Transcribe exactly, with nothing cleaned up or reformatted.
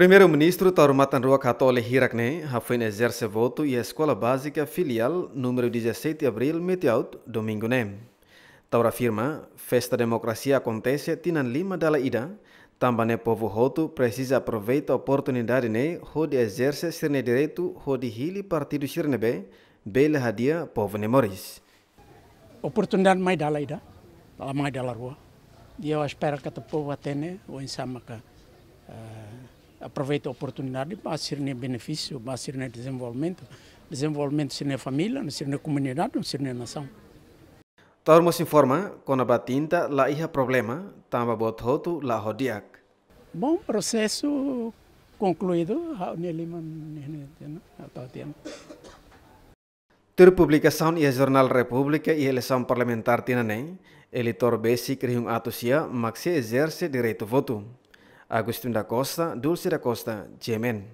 Primeiru-Ministru Taur Matan Ruak hatoli hirak ne'e hafoin ezerse votu iha Eskola Bázika Filiál númeru dezassete Abril Metiaut, domingu ne'e. Taur afirma, festa demokrasia akontese tinan lima dala ida, tanba ne'e povu hotu presiza aproveita oportunidade ne'e hodi ezerse sira-nia direitu hodi hili partidu sira ne'ebé bele hadi'a povu nia moris. Oportunidade mai dala ida, la mai dala rua. I ha'u espera katak povu hatene oinsá maka, eh, aproveita oportunidade ba sira-nia benefísiu, ba sira-nia dezenvolvimentu, dezenvolvimentu sira-nia família, sira-nia komunidade, sira-nia nasaun. Taur mós informa kona-ba tinta la iha problema, tanba buat hotu la'o ho di'ak. Bom, prosesu konkluídu, ha'u-nia liman ne'e, ne'e, ne'e, ha'u tau tian. Tuir publikasaun iha Jornál Repúblika iha eleisaun parlamentár tinan ne'e, eleitór besik rihun atus sia mak sei ezerse direitu votu. Agostinho da Costa, Dulce da Costa, G M N.